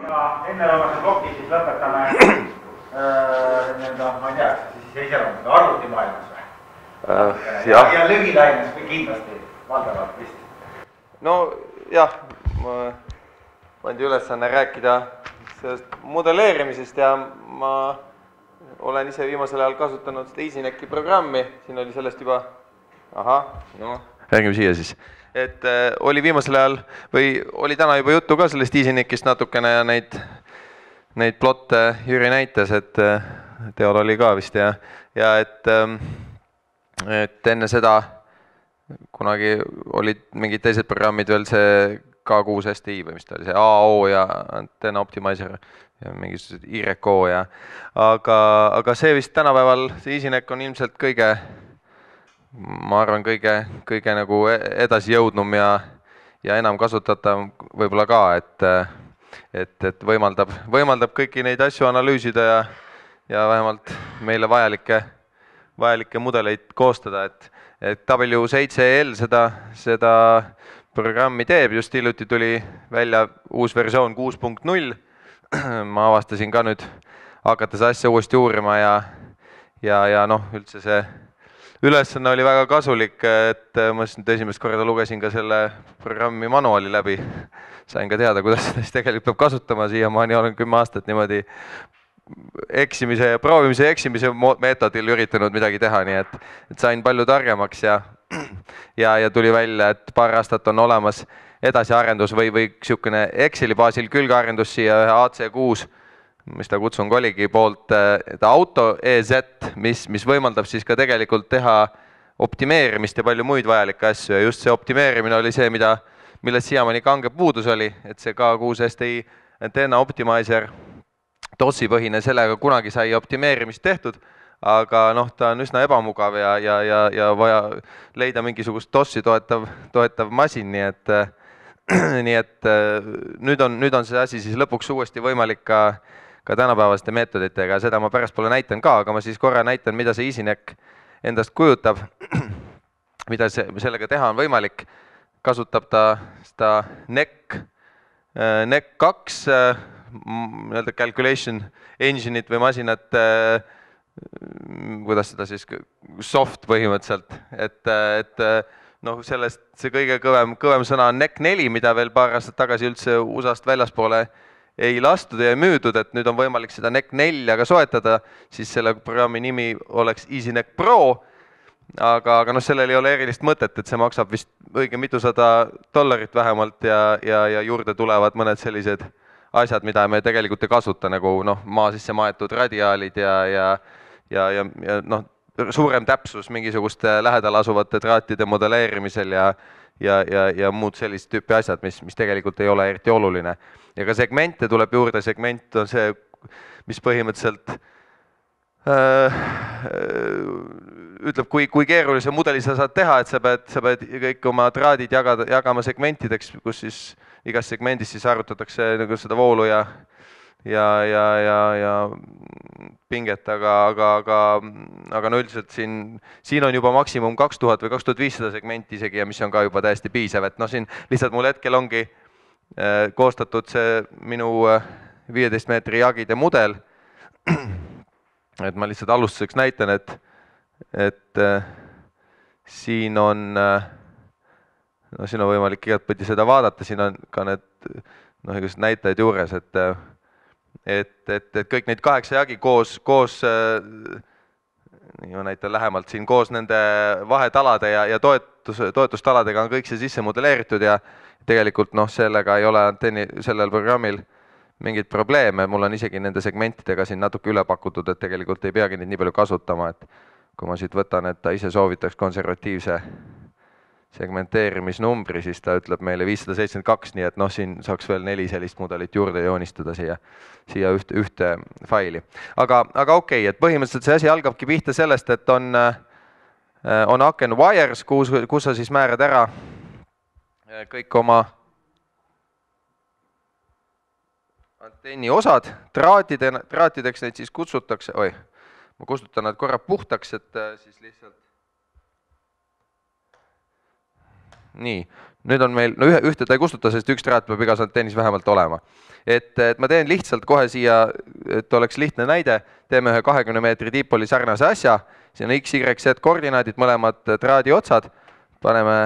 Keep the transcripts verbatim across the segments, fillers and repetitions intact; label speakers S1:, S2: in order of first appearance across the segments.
S1: Ja enneloomase ploki siis lõpetame nii-öelda, ma ei tea, siis ei iseloomuda arvutimaailmas või? Ja lühilaines või kindlasti valdavalt vist?
S2: No jah, ma pandi ülesanne rääkida sellest modelleerimisest ja ma olen ise viimasel ajal kasutanud seda EasyNecki programmi, siin oli sellest juba, ahah, no räägime siia siis. Et äh, oli viimasel ajal või oli täna juba juttu ka sellest EasyNeckist natukene ja neid, neid plotte Jüri näitas, et äh, teol oli ka vist ja, ja et, äh, et enne seda kunagi olid mingid teised programmid veel see K kuus S T I või mis ta oli, see A O ja Antenna Optimizer ja mingisugused I R K O ja aga, aga see vist tänapäeval, see EasyNeck on ilmselt kõige ma arvan, kõige, kõige nagu edasi jõudnum ja, ja enam kasutatav võib-olla ka, et, et, et võimaldab, võimaldab kõiki neid asju analüüsida ja, ja vähemalt meile vajalikke, vajalikke mudeleid koostada, et, et W seitse L seda, seda programmi teeb, just hiljuti tuli välja uus versioon kuus punkt null, ma avastasin ka nüüd hakates asja uuesti uurima ja, ja, ja noh, üldse see ülesanne oli väga kasulik, et ma nüüd esimest korda lugesin ka selle programmi manuaali läbi. Sain ka teada, kuidas seda siis tegelikult peab kasutama, siiamaani olen kümme aastat niimoodi eksimise ja proovimise ja eksimise meetodil üritanud midagi teha, nii et, et sain palju targemaks ja, ja, ja tuli välja, et paar aastat on olemas edasiarendus või, või niisugune Exceli baasil külgearendus siia ühe A C kuus, mis ta kutsun koligi poolt auto E Z, mis, mis võimaldab siis ka tegelikult teha optimeerimist ja palju muid vajalikke asju ja just see optimeerimine oli see, mida, millest siiamaani kange puudus oli, et see K kuus S T I Antenna Optimizer DOS-i põhine, sellega kunagi sai optimeerimist tehtud, aga noh, ta on üsna ebamugav ja, ja, ja, ja vaja leida mingisugust DOS-i toetav, toetav masin, nii et, nii et nüüd on, nüüd on see asi siis lõpuks uuesti võimalik ka ka tänapäevaste meetoditega, seda ma pärast pole näitan ka, aga ma siis korra näitan, mida see EasyNeck endast kujutab, mida see, sellega teha on võimalik. Kasutab ta seda N E C, N E C kaks nii-öelda calculation engine'it või masinat, kuidas seda siis, soft põhimõtteliselt, et, et noh, sellest see kõige kõvem, kõvem sõna on N E C neli, mida veel paar aastat tagasi üldse U S A-st väljaspoole ei lastud ja ei müüdud, et nüüd on võimalik seda N E C nelja ka soetada, siis selle programmi nimi oleks EasyNeck Pro, aga, aga noh, sellel ei ole erilist mõtet, et see maksab vist õige mitusada dollarit vähemalt ja, ja, ja juurde tulevad mõned sellised asjad, mida me tegelikult ei kasuta, nagu noh, maa sisse maetud radiaalid ja, ja, ja, ja, ja noh, suurem täpsus mingisuguste lähedal asuvate traatide modelleerimisel ja, ja, ja, ja muud sellist tüüpi asjad, mis, mis tegelikult ei ole eriti oluline. Ja ka segmente tuleb juurde, segment on see, mis põhimõtteliselt äh, ütleb, kui, kui keerulise mudeli sa saad teha, et sa pead, sa pead kõik oma traadid jagada, jagama segmentideks, kus siis igas segmendis siis arvutatakse nagu seda voolu ja, ja, ja, ja, ja pinget, aga, aga, aga, aga no üldiselt siin, siin on juba maksimum kaks tuhat või kaks tuhat viissada segmenti isegi ja mis on ka juba täiesti piisav, et noh, siin lihtsalt mul hetkel ongi koostatud see minu viieteist meetri jagide mudel, et ma lihtsalt alustuseks näitan, et, et siin on, no siin on võimalik igatpidi seda vaadata, siin on ka need noh, igasugused näitajad juures, et, et, et, et kõik neid kaheksa jagi koos, koos nii ma näitan lähemalt siin, koos nende vahetalade ja, ja toetus, toetustaladega on kõik see sisse modelleeritud ja tegelikult noh, sellega ei ole antenni sellel programmil mingid probleeme, mul on isegi nende segmentidega siin natuke üle pakutud, et tegelikult ei peagi neid nii palju kasutama, et kui ma siit võtan, et ta ise soovitaks konservatiivse segmenteerimisnumbri, siis ta ütleb meile viissada seitsekümmend kaks, nii et noh, siin saaks veel neli sellist mudelit juurde joonistada siia, siia ühte, ühte faili. Aga, aga okei, et põhimõtteliselt see asi algabki pihta sellest, et on, on aken wires, kus, kus sa siis määrad ära kõik oma antenni osad, traatide, traatideks neid siis kutsutakse, oi, ma kustutan nad korra puhtaks, et siis lihtsalt nii, nüüd on meil, no ühe, ühte ta ei kustuta, sest üks traat peab igas antennis vähemalt olema. Et, et ma teen lihtsalt kohe siia, et oleks lihtne näide, teeme ühe kahekümne meetri diipoli sarnase asja, siin on X, Y, Z koordinaadid, mõlemad traadi otsad, paneme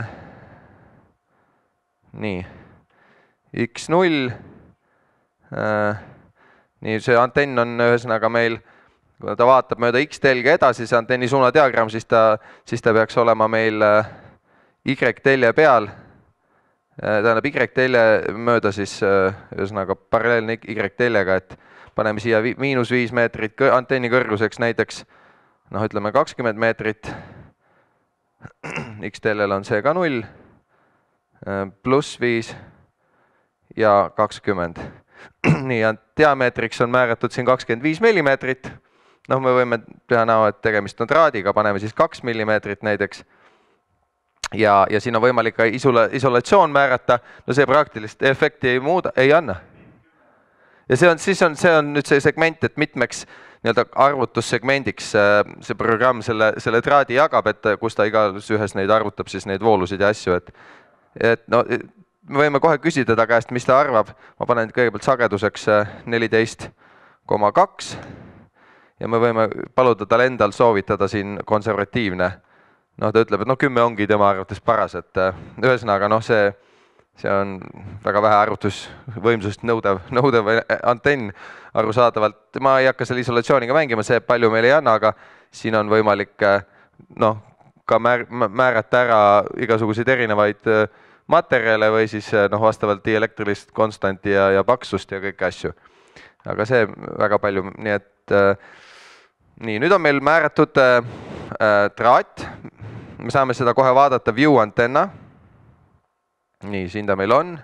S2: nii, X null, äh, nii see antenn on ühesõnaga meil, kui ta vaatab mööda X-telge edasi, see antenni suunadiagramm, siis ta, siis ta peaks olema meil Y-telje peal, tähendab Y-telje mööda siis ühesõnaga paralleelne Y-teljega, et paneme siia miinus viis meetrit antenni kõrguseks näiteks, noh ütleme kakskümmend meetrit, X-teljel on see ka null, pluss viis ja kakskümmend. Nii, diameetriks on määratud siin kakskümmend viis millimeetrit, noh me võime teha näo, et tegemist on traadiga, paneme siis kaks millimeetrit näiteks, ja, ja siin on võimalik ka isola, isolatsioon määrata, no see praktilist efekti ei muuda, ei anna. Ja see on, siis on, see on nüüd see segment, et mitmeks nii-öelda arvutussegmendiks see programm selle, selle traadi jagab, et kus ta igas ühes neid arvutab siis neid voolusid ja asju, et, et no me võime kohe küsida ta käest, mis ta arvab, ma panen kõigepealt sageduseks neliteist koma kaks ja me võime paluda tal endal soovitada siin konservatiivne. Noh, ta ütleb, et noh, kümme ongi tema arvates paras, et ühesõnaga, noh, see, see on väga vähe arvutusvõimsust nõudev, nõudev antenn arusaadavalt. Ma ei hakka selle isolatsiooniga mängima, see palju meil ei anna, aga siin on võimalik noh, ka määr, määrata ära igasuguseid erinevaid materjale või siis noh, vastavalt dielektrilist konstanti ja, ja paksust ja kõiki asju. Aga see väga palju, nii et nii, nüüd on meil määratud äh, traat. Me saame seda kohe vaadata view antenna. Nii, siin ta meil on.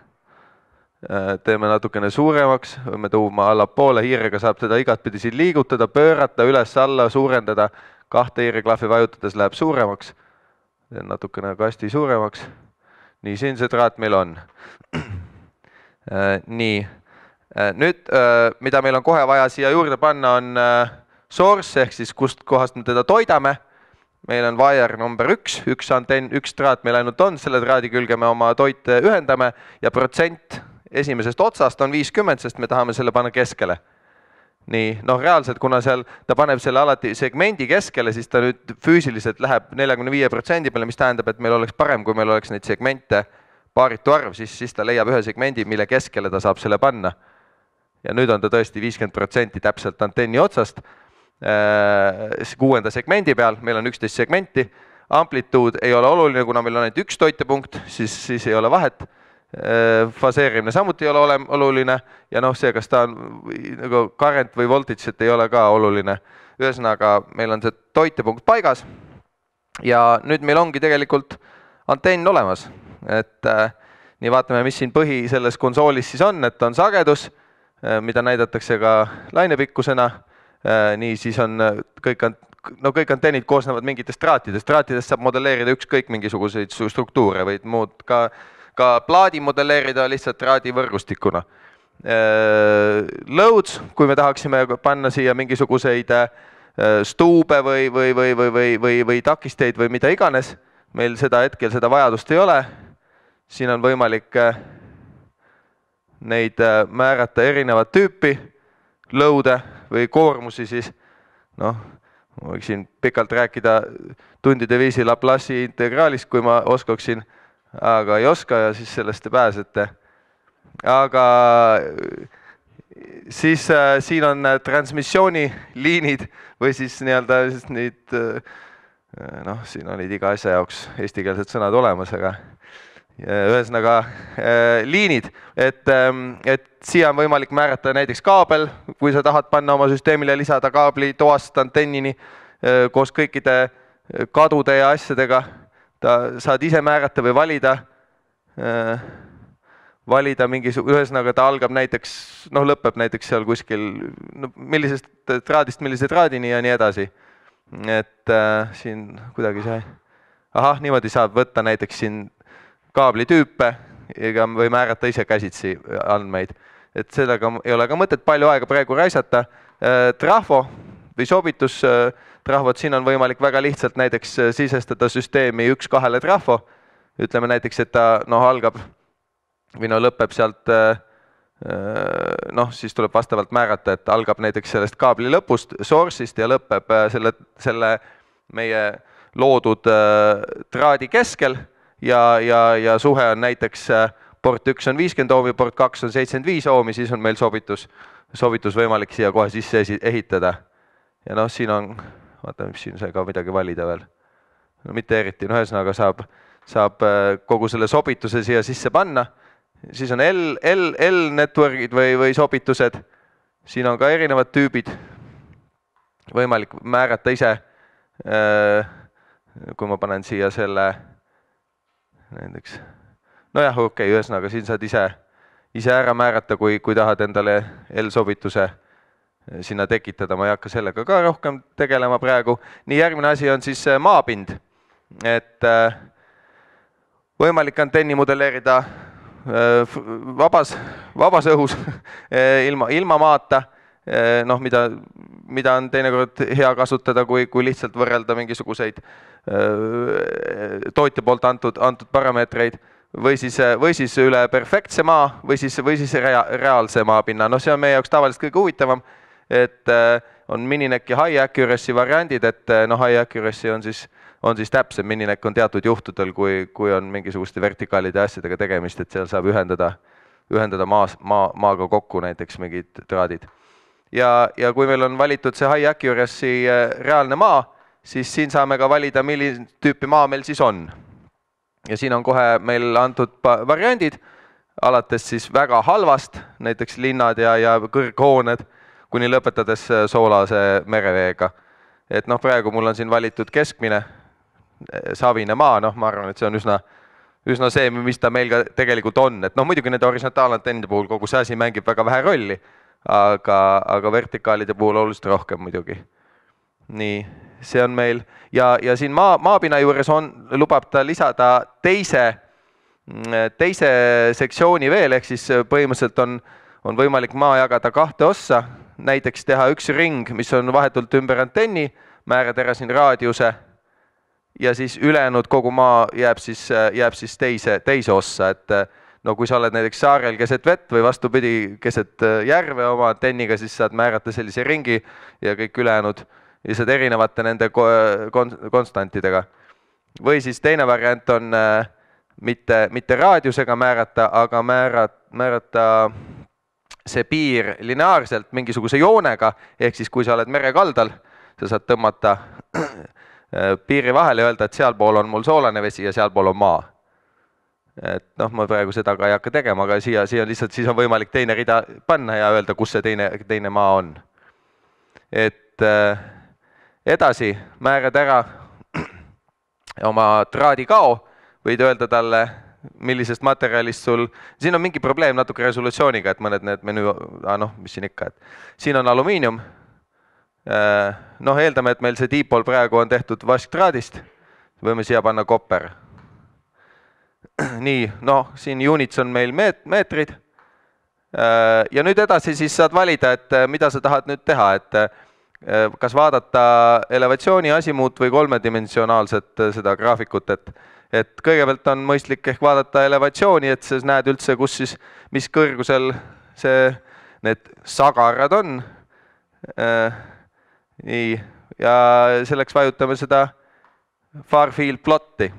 S2: Teeme natukene suuremaks, võime tuuma allapoole, hiirega saab teda igatpidi siin liigutada, pöörata, üles alla, suurendada. Kahte hiireklahvi vajutades läheb suuremaks. Teen natukene kasti suuremaks. Nii, siin see traat meil on. Nii, nüüd mida meil on kohe vaja siia juurde panna on source, ehk siis kust kohast me teda toidame. Meil on wire number üks, üks antenn, üks traat meil ainult on, selle traadi külge me oma toite ühendame ja protsent esimesest otsast on viiskümmend, sest me tahame selle panna keskele. Nii, noh reaalselt, kuna seal ta paneb selle alati segmendi keskele, siis ta nüüd füüsiliselt läheb neljakümne viie protsendi peale, mis tähendab, et meil oleks parem, kui meil oleks neid segmente paaritu arv, siis, siis ta leiab ühe segmendi, mille keskele ta saab selle panna. Ja nüüd on ta tõesti viiskümmend protsenti täpselt antenni otsast. Kuuenda segmendi peal, meil on üksteist segmenti, amplituud ei ole oluline, kuna meil on ainult üks toitepunkt, siis, siis ei ole vahet, faseerimine samuti ei ole ole, oluline ja noh, see, kas ta on nagu current või voltage, et ei ole ka oluline. Ühesõnaga, meil on see toitepunkt paigas ja nüüd meil ongi tegelikult antenn olemas, et äh, nii vaatame, mis siin põhi selles konsoolis siis on, et on sagedus, äh, mida näidatakse ka lainepikkusena. Nii, siis on kõik, no kõik antennid koosnevad mingitest traatidest. Traatidest saab modelleerida ükskõik mingisuguseid struktuure või muud. Ka, ka plaadi modelleerida lihtsalt traadivõrgustikuna. Loads, kui me tahaksime panna siia mingisuguseid stuube või, või, või, või, või, või, või takisteid või mida iganes, meil seda hetkel seda vajadust ei ole. Siin on võimalik neid määrata erinevat tüüpi load'e või koormusi siis, noh, ma võiksin pikalt rääkida tundide viisi Laplace'i integraalist, kui ma oskaksin, aga ei oska ja siis sellest te pääsete. Aga siis äh, siin on transmissiooniliinid või siis nii-öelda neid, äh, noh, siin olid iga asja jaoks eestikeelsed sõnad olemas, aga ühesõnaga äh, liinid, et, ähm, et siia on võimalik määrata näiteks kaabel, kui sa tahad panna oma süsteemile lisada kaabli toast antennini äh, koos kõikide kadude ja asjadega, ta saad ise määrata või valida, äh, valida mingisugune, ühesõnaga ta algab näiteks, noh lõpeb näiteks seal kuskil, no, millisest traadist millise traadini ja nii edasi. Et äh, siin kuidagi see, ahah, niimoodi saab võtta näiteks siin kaablitüüpe või määrata ise käsitsi andmeid. Et sellega ei ole ka mõtet palju aega praegu raisata. Trahvo või sobitus trahvot, siin on võimalik väga lihtsalt näiteks sisestada süsteemi üks kahele trahvo. ütleme näiteks, et ta noh, algab või no lõpeb sealt, noh, siis tuleb vastavalt määrata, et algab näiteks sellest kaabli lõpust, source'ist ja lõpeb selle, selle meie loodud traadi keskel ja, ja, ja suhe on näiteks port üks on viiskümmend oomi, port kaks on seitsekümmend viis oomi, siis on meil sobitus, sobitus võimalik siia kohe sisse ehitada. Ja noh, siin on, vaata, mis siin sai ka midagi valida veel. No mitte eriti, no ühesõnaga saab, saab kogu selle sobituse siia sisse panna. Siis on L, L, L networkid või, või sobitused. Siin on ka erinevad tüübid. Võimalik määrata ise, kui ma panen siia selle näiteks. No jah, okei, okay, ühesõnaga siin saad ise, ise ära määrata, kui, kui tahad endale L-sobituse sinna tekitada. Ma ei hakka sellega ka rohkem tegelema praegu. Nii, järgmine asi on siis maapind. Et võimalik antenni modelleerida vabas, vabas õhus ilma, ilma maata, noh, mida, mida on teinekord hea kasutada, kui, kui lihtsalt võrrelda mingisuguseid tootja poolt antud, antud parameetreid. Või siis, või siis üle perfektse maa või siis, või siis rea, reaalse maapinna. No see on meie jaoks tavaliselt kõige huvitavam, et on Minineck ja high accuracy variandid, et no high accuracy on siis, on siis täpsem, Minineck on teatud juhtudel, kui, kui on mingisuguste vertikaalide asjadega tegemist, et seal saab ühendada, ühendada maas, maa, maaga kokku näiteks mingid traadid. Ja, ja kui meil on valitud see high accuracy reaalne maa, siis siin saame ka valida, milline tüüpi maa meil siis on. Ja siin on kohe meil antud variandid, alates siis väga halvast, näiteks linnad ja, ja kõrghooned, kuni lõpetades soolase mereveega. Et noh, praegu mul on siin valitud keskmine savine maa, noh, ma arvan, et see on üsna, üsna see, mis ta meil ka tegelikult on. Et noh, muidugi nende horisontaalantennide puhul kogu see asi mängib väga vähe rolli, aga, aga vertikaalide puhul oluliselt rohkem muidugi. Nii, see on meil ja, ja siin maa, maapinna juures on, lubab ta lisada teise, teise sektsiooni veel, ehk siis põhimõtteliselt on, on võimalik maa jagada kahte ossa, näiteks teha üks ring, mis on vahetult ümber antenni, määrad ära siin raadiuse ja siis ülejäänud kogu maa jääb siis, jääb siis teise, teise ossa, et no kui sa oled näiteks saarel keset vett või vastupidi keset järve oma antenniga, siis saad määrata sellise ringi ja kõik ülejäänud lihtsalt erinevate nende konstantidega. Või siis teine variant on mitte, mitte raadiusega määrata, aga määrata, määrata see piir lineaarselt mingisuguse joonega, ehk siis kui sa oled merekaldal, sa saad tõmmata piiri vahele ja öelda, et sealpool on mul soolane vesi ja sealpool on maa. Et noh, ma praegu seda ka ei hakka tegema, aga siia, siia lihtsalt siis on võimalik teine rida panna ja öelda, kus see teine, teine maa on. Et edasi määrad ära oma traadikao, võid öelda talle, millisest materjalist sul, siin on mingi probleem natuke resolutsiooniga, et mõned need menüü, ah, noh, mis siin ikka, et siin on alumiinium, noh, eeldame, et meil see diipol praegu on tehtud vasktraadist, võime siia panna kopper. Nii, noh, siin units on meil meet, meetrid ja nüüd edasi siis saad valida, et mida sa tahad nüüd teha, et kas vaadata elevatsiooni asimuut või kolmedimensionaalset seda graafikut, et et kõigepealt on mõistlik ehk vaadata elevatsiooni, et sa näed üldse, kus siis, mis kõrgusel see, need sagarad on. Nii, ja selleks vajutame seda far field plotti.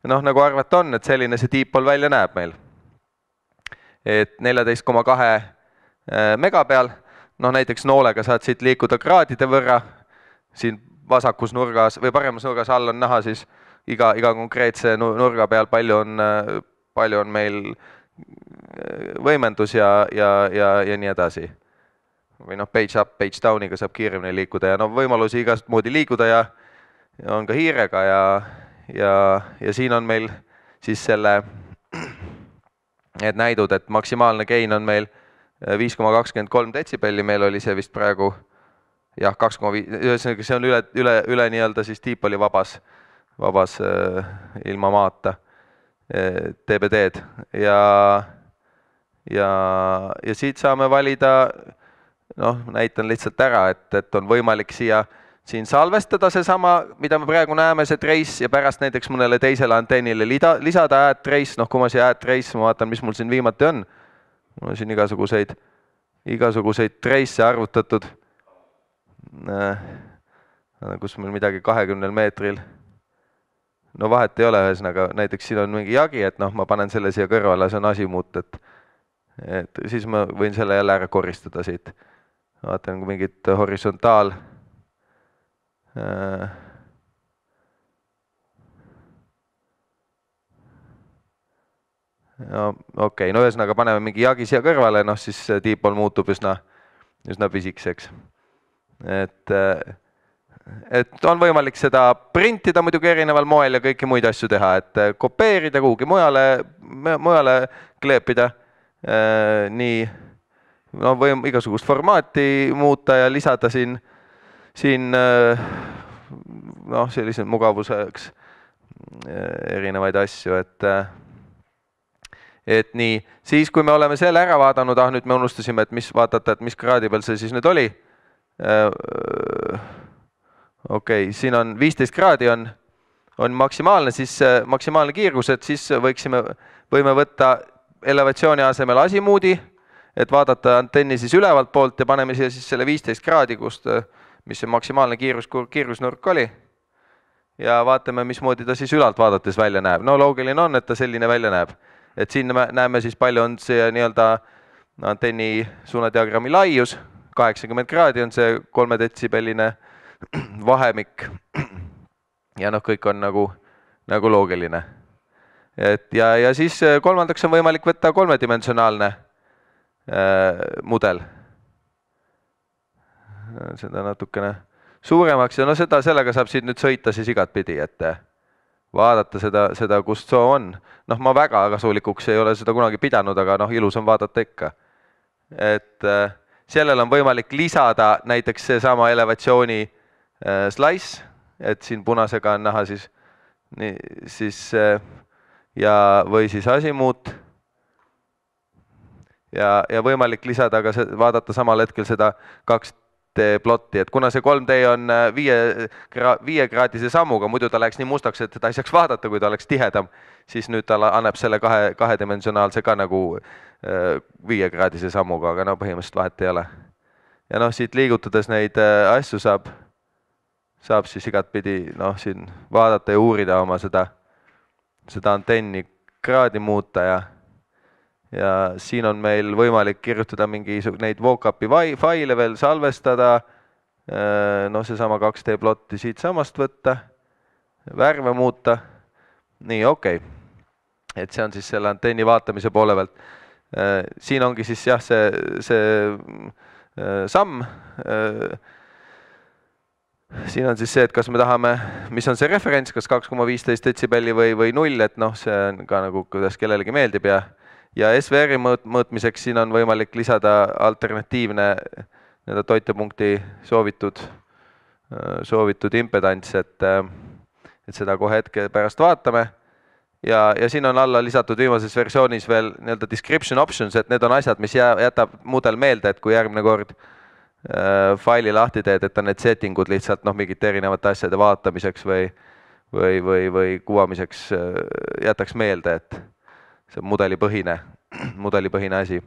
S2: Noh, nagu arvata on, et selline see diipol välja näeb meil. Et neliteist koma kaks mega peal, noh näiteks noolega saad siit liikuda kraadide võrra, siin vasakus nurgas või paremas nurgas all on näha siis iga, iga konkreetse nurga peal palju on, palju on meil võimendus ja, ja, ja, ja nii edasi. Või noh, page up, page down'iga saab kiiremini liikuda ja no võimalusi igast moodi liikuda ja, ja on ka hiirega ja, ja, ja siin on meil siis selle need näidud, et maksimaalne gain on meil viis koma kakskümmend kolm detsibelli, meil oli see vist praegu jah, kaks koma viis, ühesõnaga see on üle, üle, üle nii-öelda siis diipoli vabas, vabas äh, ilma maata äh, D B D-d ja, ja, ja siit saame valida, noh, näitan lihtsalt ära, et, et on võimalik siia siin salvestada seesama, mida me praegu näeme, see trace, ja pärast näiteks mõnele teisele antennile lida, lisada add trace, noh kui ma siia add trace, ma vaatan, mis mul siin viimati on. Mul on siin igasuguseid, igasuguseid trace'e arvutatud, kus meil midagi kahekümnel meetril. No vahet ei ole, ühesõnaga, näiteks siin on mingi jagi, et noh, ma panen selle siia kõrvale, see on asimuut, et, et siis ma võin selle jälle ära koristada siit. Vaatan mingit horisontaal. No, okei, okay, no ühesõnaga paneme mingi jagi siia kõrvale, noh siis dipol muutub üsna, üsna pisikseks. Et... et on võimalik seda printida muidugi erineval moel ja kõiki muid asju teha, et kopeerida kuhugi mujale, mujale kleepida, nii no, või igasugust formaati muuta ja lisada siin, siin noh, sellise mugavuseks erinevaid asju, et, et nii, siis kui me oleme selle ära vaadanud, ah nüüd me unustasime, et mis vaadata, et mis kraadi peal see siis nüüd oli. Okei, okay, siin on viisteist kraadi on, on maksimaalne, siis maksimaalne kiirgus, et siis võiksime, võime võtta elevatsiooni asemel asimuudi, et vaadata antenni siis ülevalt poolt ja paneme siia siis selle viisteist kraadi, kust, mis see maksimaalne kiirus, kiirusnurk oli. Ja vaatame, mismoodi ta siis ülalt vaadates välja näeb. No loogiline on, et ta selline välja näeb. Et siin näeme siis palju on see nii-öelda antenni suunadiagrammi laius, kaheksakümmend kraadi on see kolme detsibelline vahemik ja noh, kõik on nagu, nagu loogiline. Et ja, ja siis kolmandaks on võimalik võtta kolmedimensionaalne äh, mudel. Seda natukene suuremaks ja no seda, sellega saab siit nüüd sõita siis igat pidi, et vaadata seda, seda kust soo on. Noh, ma väga kasulikuks ei ole seda kunagi pidanud, aga noh, ilus on vaadata ikka. Et äh, sellel on võimalik lisada näiteks seesama elevatsiooni slice, et siin punasega on näha siis, nii, siis ja, või siis asimuut ja, ja võimalik lisada ka see, vaadata samal hetkel seda kaks D plotti, et kuna see kolm D on viie, viie kraadise sammuga, muidu ta läheks nii mustaks, et ta ei saaks vaadata, kui ta oleks tihedam, siis nüüd ta annab selle kahe, kahedimensionaalse ka nagu viie kraadise sammuga, aga no põhimõtteliselt vahet ei ole. Ja noh, siit liigutades neid asju saab saab siis igat pidi noh, siin vaadata ja uurida oma seda, seda antenni kraadi muuta ja, ja siin on meil võimalik kirjutada mingi neid vocap'i faile veel salvestada, noh seesama kaks D plotti siit samast võtta, värve muuta, nii okei, okay. Et see on siis selle antenni vaatamise poole pealt. Siin ongi siis jah, see, see samm, siin on siis see, et kas me tahame, mis on see referents, kas kaks koma viisteist detsibelli või, või null, et noh, see on ka nagu, kuidas kellelegi meeldib ja, ja S V R-i mõõt, mõõtmiseks siin on võimalik lisada alternatiivne nii-öelda toitepunkti soovitud, soovitud impedants, et, et seda kohe hetke pärast vaatame. Ja, ja siin on alla lisatud viimases versioonis veel nii-öelda description options, et need on asjad, mis jää, jätab mudel meelde, et kui järgmine kord faili lahti teed, et on need settingud lihtsalt noh, mingite erinevate asjade vaatamiseks või, või, või, või kuvamiseks jätaks meelde, et see on mudelipõhine, mudelipõhine asi.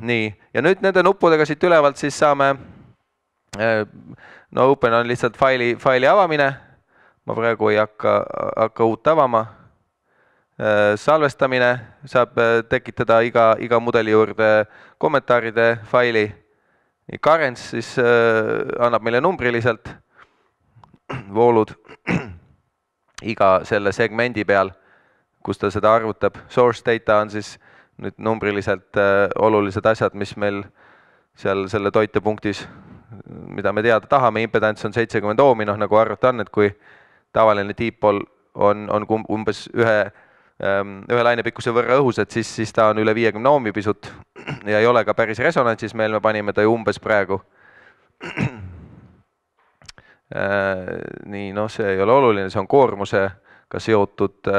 S2: Nii, ja nüüd nende nuppudega siit ülevalt siis saame, no open on lihtsalt faili, faili avamine, ma praegu ei hakka, hakka uut avama, salvestamine saab tekitada iga, iga mudeli juurde kommentaaride faili. Currents siis äh, annab meile numbriliselt voolud iga selle segmendi peal, kus ta seda arvutab. Source data on siis nüüd numbriliselt äh, olulised asjad, mis meil seal selle toitepunktis, mida me teada tahame. Impedance on seitsekümmend oomi, noh nagu arvuta on, et kui tavaline dipol on, on umbes ühe ühe lainepikkuse võrra õhus, et siis, siis ta on üle viiekümne oomi pisut ja ei ole ka päris resonantsis, meil me panime ta ju umbes praegu. Nii, noh, see ei ole oluline, see on koormusega seotud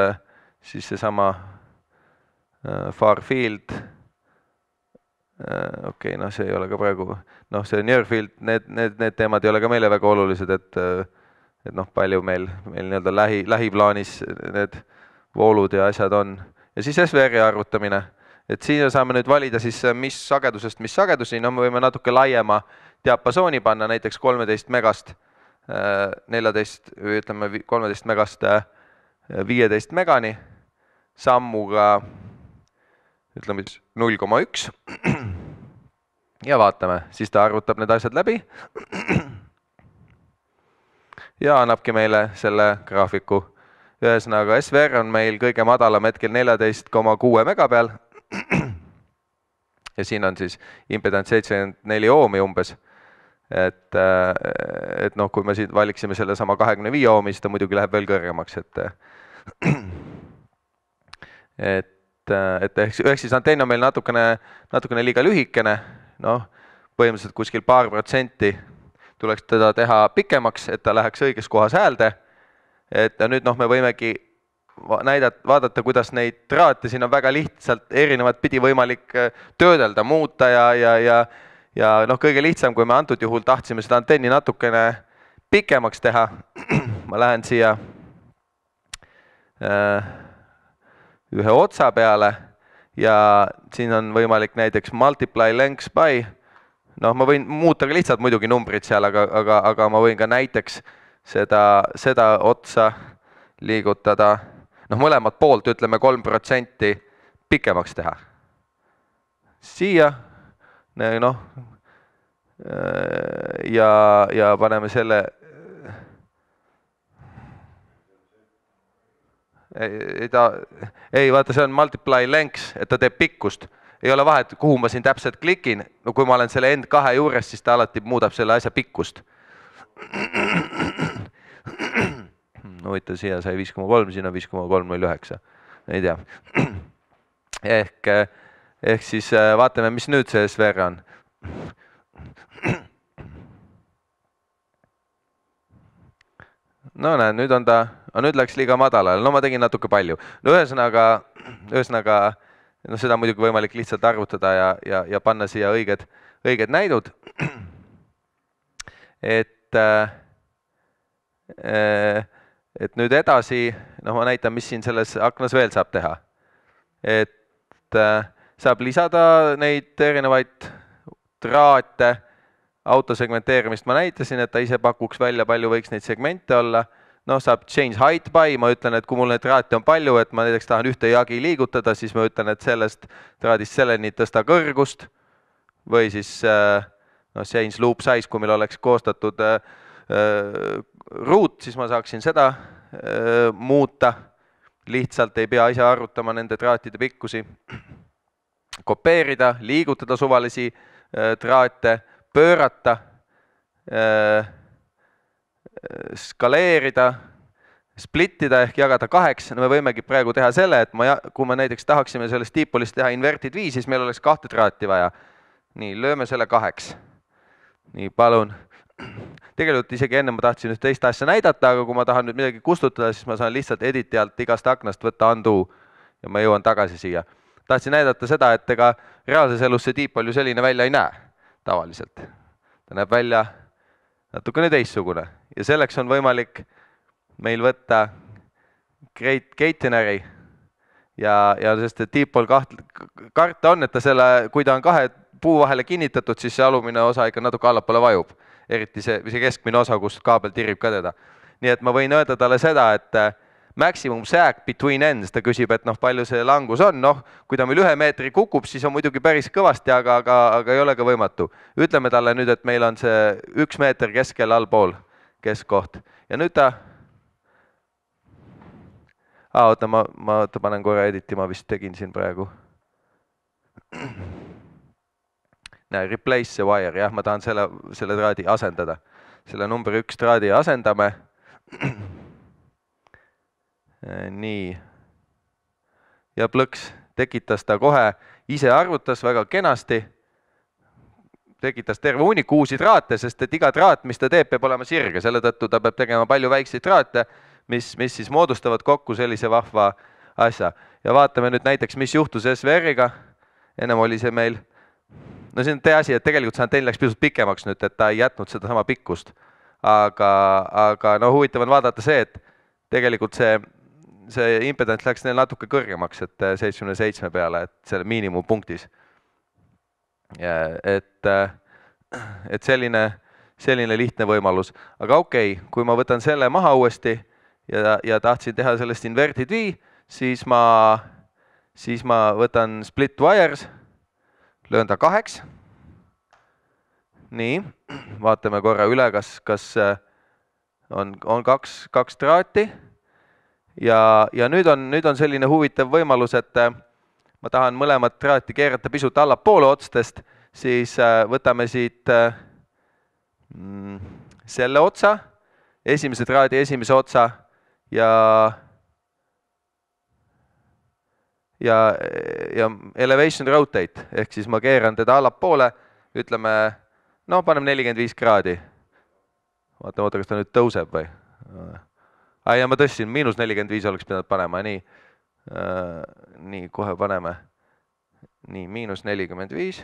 S2: siis seesama far field okei, okay, noh, see ei ole ka praegu, noh, see near field, need, need, need teemad ei ole ka meile väga olulised, et, et noh, palju meil, meil nii-öelda lähi, lähiplaanis need voolud ja asjad on. Ja siis S V R-i arvutamine, et siin saame nüüd valida siis, mis sagedusest, mis sagedusi, no me võime natuke laiema diapasooni panna, näiteks kolmeteist megast, neljateist, ütleme kolmeteist megast viieteist megani, sammuga ütleme null koma üks ja vaatame, siis ta arvutab need asjad läbi ja annabki meile selle graafiku. Ühesõnaga S V R on meil kõige madalam hetkel neljateist koma kuus mega peal ja siin on siis impedants seitsekümmend neli oomi umbes. Et, et noh, kui me siin valiksime selle sama kahekümne viie oomi, siis ta muidugi läheb veel kõrgemaks, et et et ehk, ehk siis antenn on meil natukene, natukene liiga lühikene, noh, põhimõtteliselt kuskil paar protsenti tuleks teda teha pikemaks, et ta läheks õiges kohas häälde, et nüüd noh, me võimegi näidata, vaadata, kuidas neid traate siin on väga lihtsalt erinevat pidi võimalik töödelda, muuta ja, ja, ja, ja noh, kõige lihtsam, kui me antud juhul tahtsime seda antenni natukene pikemaks teha, ma lähen siia äh, ühe otsa peale ja siin on võimalik näiteks multiply length by, noh, ma võin muuta ka lihtsalt muidugi numbrid seal, aga, aga, aga ma võin ka näiteks seda, seda otsa liigutada, noh, mõlemad poolt ütleme kolm protsenti pikemaks teha. Siia, noh, ja, ja paneme selle Ei, ta, ei, vaata, see on multiply lengths, et ta teeb pikkust. Ei ole vahet, kuhu ma siin täpselt klikin. No kui ma olen selle end kahe juures, siis ta alati muudab selle asja pikkust. No võita, siia sai viis koma kolm, siin on viis koma kolm null üheksa. Ei tea. Ehk, ehk siis vaatame, mis nüüd see S V R on. No näe, nüüd on ta, nüüd läks liiga madalale, no ma tegin natuke palju. No ühesõnaga, ühesõnaga no seda muidugi võimalik lihtsalt arvutada ja, ja, ja panna siia õiged, õiged näidud. Et, et nüüd edasi, noh ma näitan, mis siin selles aknas veel saab teha. Et saab lisada neid erinevaid traate, autosegmenteerimist ma näitasin, et ta ise pakuks välja, palju võiks neid segmente olla. No saab change height by, ma ütlen, et kui mul neid traati on palju, et ma näiteks tahan ühte jagi liigutada, siis ma ütlen, et sellest traadist selleni tõsta kõrgust või siis no, change loop size, kui meil oleks koostatud äh, ruut, siis ma saaksin seda äh, muuta. Lihtsalt ei pea ise arvutama nende traatide pikkusi. Kopeerida, liigutada suvalisi äh, traate, pöörata, skaleerida, splittida ehk jagada kaheks. No me võimegi praegu teha selle, et ma, kui me näiteks tahaksime sellest diipolist teha inverted viis, siis meil oleks kahte traati vaja. Nii, lööme selle kaheks. Nii, palun. Tegelikult isegi enne ma tahtsin üht teist asja näidata, aga kui ma tahan nüüd midagi kustutada, siis ma saan lihtsalt editi alt igast aknast võtta undo ja ma jõuan tagasi siia. Tahtsin näidata seda, et ega reaalses elus see diipol ju selline välja ei näe. Tavaliselt. Ta näeb välja natukene teistsugune ja selleks on võimalik meil võtta Great Catenary ja, ja sest et diipol kaht, karta on, et ta selle, kui ta on kahe puu vahele kinnitatud, siis see alumine osa ikka natuke allapoole vajub. Eriti see, see keskmine osa, kus kaabel tirib ka teda. Nii et ma võin öelda talle seda, et maximum sag between ends, ta küsib, et noh, palju see langus on, noh, kui ta meil ühe meetri kukub, siis on muidugi päris kõvasti, aga, aga, aga ei ole ka võimatu. Ütleme talle nüüd, et meil on see üks meeter keskel allpool keskkoht ja nüüd ta ah, oota, ma, ma oota, panen korra editi, ma vist tegin siin praegu. Näe, replace the wire, jah, ma tahan selle, selle traadi asendada. Selle number üks traadi asendame. Nii. Ja plõks tekitas ta kohe, ise arvutas väga kenasti, tekitas terve hunniku uusi traate, sest et iga traat, mis ta teeb, peab olema sirge, selle tõttu ta peab tegema palju väikseid traate, mis, mis siis moodustavad kokku sellise vahva asja. Ja vaatame nüüd näiteks, mis juhtus S V R-iga. Ennem oli see meil no see on tee asi, et tegelikult see teil läks pisut pikemaks nüüd, et ta ei jätnud seda sama pikkust. Aga, aga no huvitav on vaadata see, et tegelikult see, see impedants läks neil natuke kõrgemaks, et seitsmekümne seitsme peale, et selle miinimumpunktis. Et, et selline, selline lihtne võimalus. Aga okei, okay, kui ma võtan selle maha uuesti ja, ja tahtsin teha sellest inverted V, siis ma, siis ma võtan split wires, löön ta kaheks. Nii, vaatame korra üle, kas, kas on, on kaks, kaks traati. Ja, ja nüüd, on, nüüd on selline huvitav võimalus, et ma tahan mõlemat traati keerata pisut allapoole otstest, siis võtame siit mm, selle otsa, esimese traadi esimese otsa ja, ja, ja elevation rotate, ehk siis ma keeran teda allapoole, ütleme, no paneme nelikümmend viis kraadi. Vaata, oota, kas ta nüüd tõuseb või? Ai, ja ma tõstsin, miinus nelikümmend viis oleks pidanud panema, nii. Nii, kohe paneme. Nii, miinus nelikümmend viis.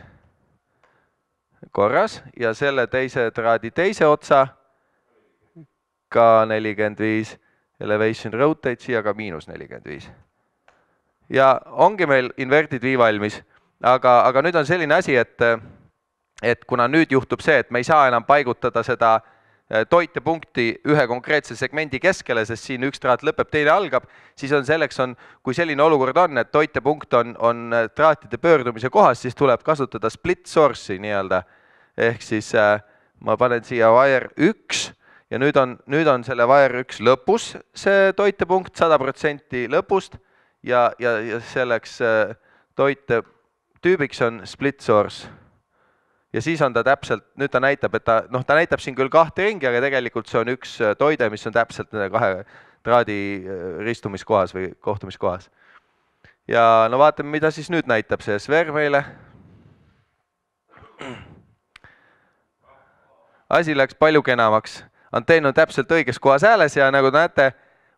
S2: Korras. Ja selle teise traadi teise otsa ka nelikümmend viis. Elevation rotate siia ka miinus nelikümmend viis. Ja ongi meil inverted V valmis. Aga, aga nüüd on selline asi, et et kuna nüüd juhtub see, et me ei saa enam paigutada seda toitepunkti ühe konkreetse segmendi keskele, sest siin üks traat lõpeb, teine algab, siis on selleks, on, kui selline olukord on, et toitepunkt on, on traatide pöördumise kohas, siis tuleb kasutada split source'i nii-öelda. Ehk siis äh, ma panen siia wire üks ja nüüd on, nüüd on selle wire üks lõpus see toitepunkt, sada protsenti lõpust ja, ja, ja selleks äh, toite tüübiks on split source. Ja siis on ta täpselt, nüüd ta näitab, et ta, noh, ta näitab siin küll kahte ringi, aga tegelikult see on üks toide, mis on täpselt nende kahe traadi ristumiskohas või kohtumiskohas. Ja no vaatame, mida siis nüüd näitab see S V R meile. Asi läks palju kenamaks. Antenn on täpselt õiges kohas hääles ja nagu näete,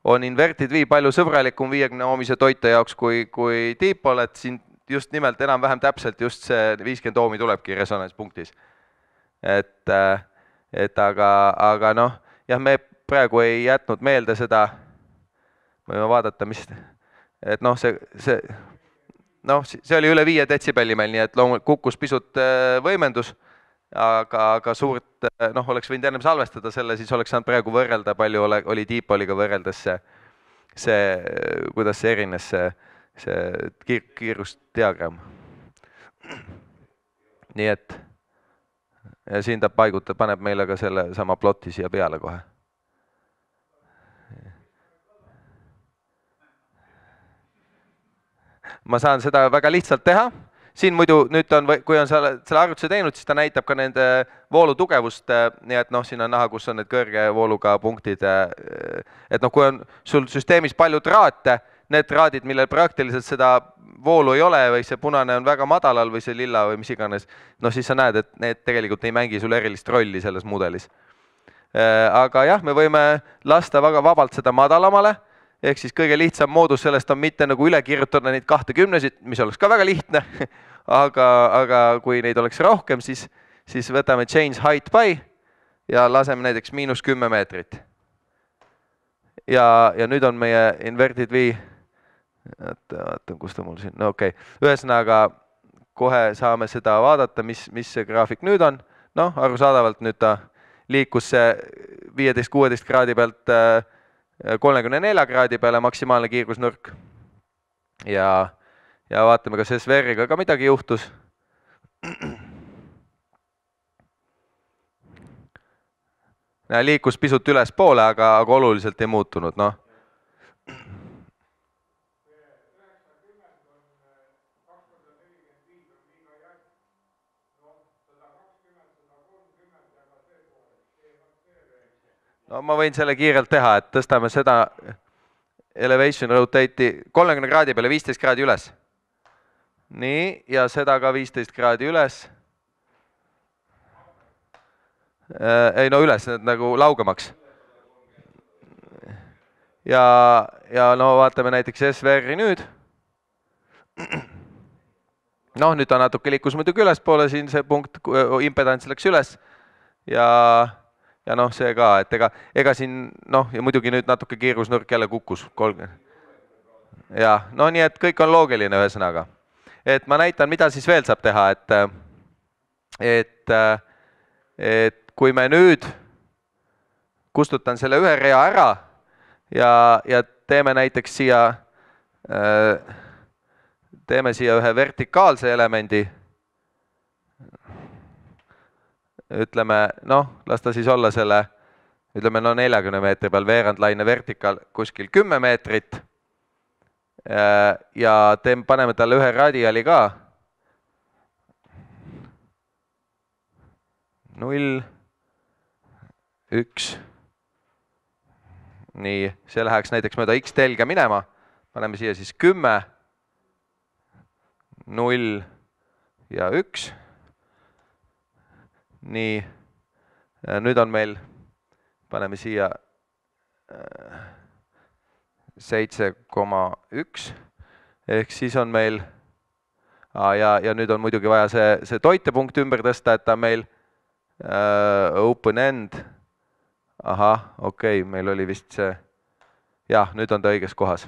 S2: on inverted V palju sõbralikum viiekümne oomise toite jaoks kui, kui dipol, et siin just nimelt enam-vähem täpselt just see viiskümmend oomi tulebki resonantspunktis. Et, et aga, aga noh, jah, me praegu ei jätnud meelde seda, võime vaadata, mis, et noh, see, see, noh, see oli üle viie detsibelli meil, nii et loomulikult kukkus pisut võimendus, aga, aga suurt, noh, oleks võinud ennem salvestada selle, siis oleks saanud praegu võrrelda, palju ole, oli diipoliga võrreldes see, see, kuidas see erines see, see kiir, kiirusdiagramm. Nii et ja siin ta paigutab, paneb meile ka selle sama ploti siia peale kohe. Ma saan seda väga lihtsalt teha. Siin muidu nüüd on, kui on selle, selle arvutuse teinud, siis ta näitab ka nende voolu tugevust, nii et noh, siin on näha, kus on need kõrge vooluga punktid. Et noh, kui on sul süsteemis palju traate, need traadid, millel praktiliselt seda voolu ei ole või see punane on väga madalal või see lilla või mis iganes, no siis sa näed, et need tegelikult ei mängi sul erilist rolli selles mudelis. Aga jah, me võime lasta väga vabalt seda madalamale, ehk siis kõige lihtsam moodus sellest on mitte nagu üle kirjutada neid kahtekümnesid, mis oleks ka väga lihtne, aga, aga kui neid oleks rohkem, siis, siis võtame change height by ja laseme näiteks miinus kümme meetrit. Ja, ja nüüd on meie inverted V, vaatan, kus ta mul siin, no okei, okay. Ühesõnaga kohe saame seda vaadata, mis, mis see graafik nüüd on. Noh, arusaadavalt nüüd ta liikus see viieteist kuueteist kraadi pealt kolmekümne nelja kraadi peale maksimaalne kiirgusnurk. Ja, ja vaatame, kas S V R-iga ka midagi juhtus. Liikus pisut üles poole, aga, aga oluliselt ei muutunud, noh. No ma võin selle kiirelt teha, et tõstame seda elevation rotate'i kolmekümne kraadi peale viisteist kraadi üles. Nii, ja seda ka viisteist kraadi üles. Ei no üles, nagu laugemaks. Ja, ja no vaatame näiteks S V R-i nüüd. noh, nüüd ta natuke liikus muidugi ülespoole, siin see punkt, impedants läks üles ja, ja noh, see ka, et ega, ega siin, noh, ja muidugi nüüd natuke kiirusnurk jälle kukkus. Ja, no nii, et kõik on loogiline ühesõnaga. Et ma näitan, mida siis veel saab teha, et, et, et kui me nüüd kustutan selle ühe rea ära ja, ja teeme näiteks siia teeme siia ühe vertikaalse elemendi. Ütleme, noh, las ta siis olla selle, ütleme, no neljakümne meetri peal veerandlaine vertikaal kuskil kümme meetrit. Ja teeme, paneme talle ühe radiali ka. null, üks. Nii, see läheks näiteks mööda X telge minema. Paneme siia siis kümme. null ja üks. Nii, nüüd on meil, paneme siia seitse koma üks, ehk siis on meil, ja, ja nüüd on muidugi vaja see, see toitepunkt ümber tõsta, et ta meil uh, open end, ahah, okei, okay, meil oli vist see, jah, nüüd on ta õiges kohas.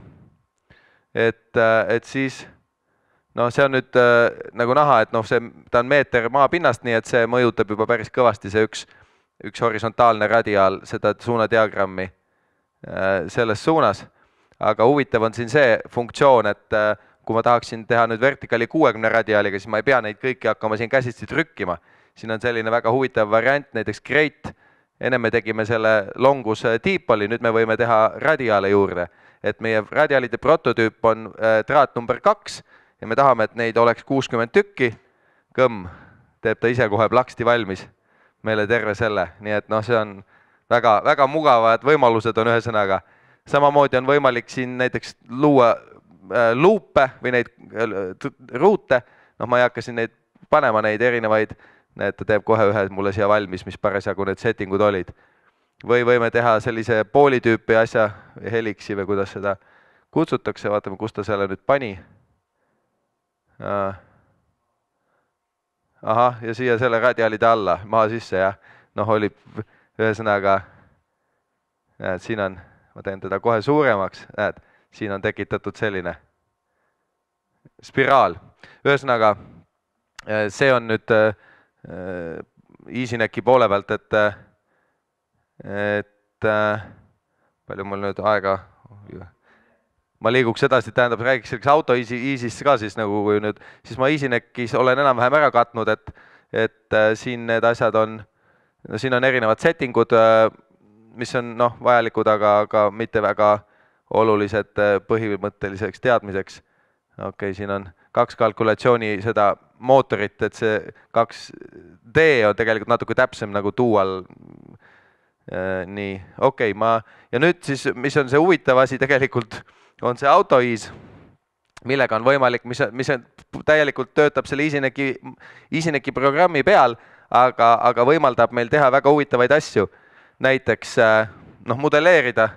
S2: Et, et siis, no see on nüüd äh, nagu näha, et noh, see, ta on meeter maapinnast, nii et see mõjutab juba päris kõvasti see üks, üks horisontaalne radiaal, seda suunadiagrammi äh, selles suunas. Aga huvitav on siin see funktsioon, et äh, kui ma tahaksin teha nüüd vertikaali kuuekümne radiaaliga, siis ma ei pea neid kõiki hakkama siin käsitsi trükkima. Siin on selline väga huvitav variant, näiteks Great. Enne me tegime selle longus diipoli, nüüd me võime teha radiaale juurde. Et meie radiaalide prototüüp on äh, traat number kaks, ja me tahame, et neid oleks kuuskümmend tükki, kõmm, teeb ta ise kohe plaksti valmis meile terve selle, nii et noh, see on väga, väga mugavad võimalused on ühesõnaga. Samamoodi on võimalik siin näiteks luua äh, luupe või neid äh, ruute, noh ma ei hakka siin neid panema neid erinevaid, need ta teeb kohe ühe mulle siia valmis, mis parasjagu need settingud olid. Või võime teha sellise poolitüüpi asja, heliksi või kuidas seda kutsutakse, vaatame, kus ta selle nüüd pani. Ahah, ja siia selle radiaalide alla, maha sisse, jah. Noh, oli ühesõnaga, näed, siin on, ma teen teda kohe suuremaks, näed, siin on tekitatud selline spiraal. Ühesõnaga, see on nüüd EasyNecki poole pealt, et, et palju mul nüüd aega ma liiguks edasi, tähendab, räägiks selleks auto Easy'st ka siis nagu kui nüüd, siis ma EasyNeckis olen enam-vähem ära katnud, et, et siin need asjad on, no siin on erinevad settingud, mis on noh, vajalikud, aga, aga mitte väga olulised põhimõtteliseks teadmiseks. Okei, okay, siin on kaks kalkulatsiooni seda mootorit, et see kaks D on tegelikult natuke täpsem nagu dual. Nii, okei, okay, ma, ja nüüd siis, mis on see huvitav asi tegelikult, on see AutoEase, millega on võimalik, mis, mis on, täielikult töötab selle EasyNecki, EasyNecki programmi peal, aga, aga võimaldab meil teha väga huvitavaid asju. Näiteks noh, modelleerida